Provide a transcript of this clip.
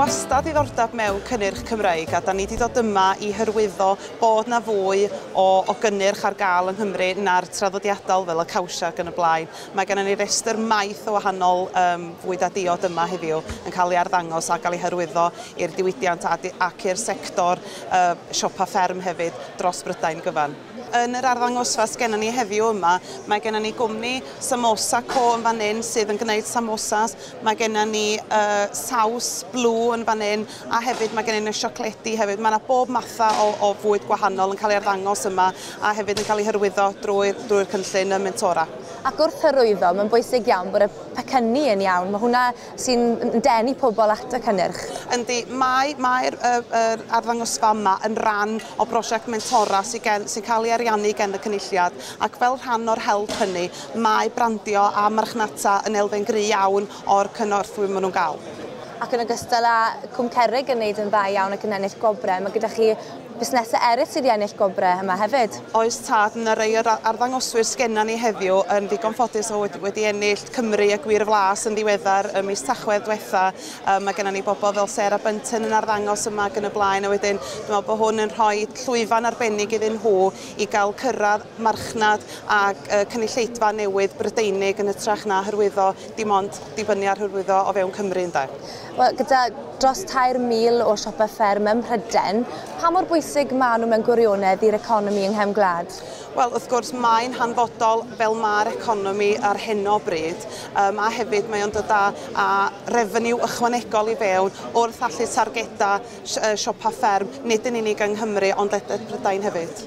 wastad ddiddordeb mewn cynnyrch Cymreig a da ni wedi dod yma i hyrwyddo bod na fwy o gynnyrch ar gael yng Nghymru na'r traddodiadol fel y cawsia ac yn y blaen. Mae gennym ni restr maith o wahanol fwyd a diod yma heddiw yn cael ei arddangos a cael ei hyrwyddo i'r diwydiant ac i'r sector siopa fferm hefyd dros Brydain gyfan. Yn yr arddangosfa sgennon ni heddiw yma, mae gennym ni gwmni Samosa Co yn fan hyn sydd yn gwneud samosas, mae gennym ni saws blw yn fan hyn a hefyd mae gennym ni siocledi hefyd. Mae yna bob matha o fwyd gwahanol yn cael ei arddangos yma a hefyd yn cael ei hyrwyddo drwy'r cynllun y Mentora. Ac wrth hyrwyddo, mae'n bwysig iawn bod y pecynnu yn iawn. Mae hwnna sy'n denu pobl at y cynnyrch. Yndi, mae'r arddangosfa yma yn rhan o brosiect Mentora sy'n cael ei ariannu gen y Cynulliad, ac fel rhan o'r help hynny, mae brandio a marchnata yn elfen gry iawn o'r cynorthwy maen nhw'n gael. Ac yn ogystal â Cwm Cerrig yn wneud yn dda iawn ac yn ennill gwobrau, mae gyda chi busnesau eraill sydd wedi ennill gwobrau yma hefyd. Oes tad, yna rei o'r arddangoswyr sgenna ni heddiw yn ddigon ffodus o wedi ennill Cymru a Gwir Flas yn ddiweddar ym mis Tachwedd diwetha. Mae genna ni bobl fel Sarah Bunton yn arddangos yma ac yn y blaen, a wedyn dwi'n meddwl bod hwn yn rhoi llwyfan arbennig iddyn nhw i gael cyrraedd marchnad ac cynulleidfa newydd Brydeinig yn hytrach na hyrwyddo dim ond dibynnu ar hyrwyddo o fewn Cymru ynde. Wel, gyda dros 3,000 o siopau fferm ym Mhrydain, pa mor bwysig maen nhw mewn gwirionedd i'r economi yng nghefn gwlad? Wel, wrth gwrs, mae'n hanfodol fel mae'r economi ar hyn o bryd, a hefyd mae o'n dod â refeniw ychwanegol i fewn wrth allu targeda siopa fferm, nid yn unig yng Nghymru, ond ledled Prydain hefyd.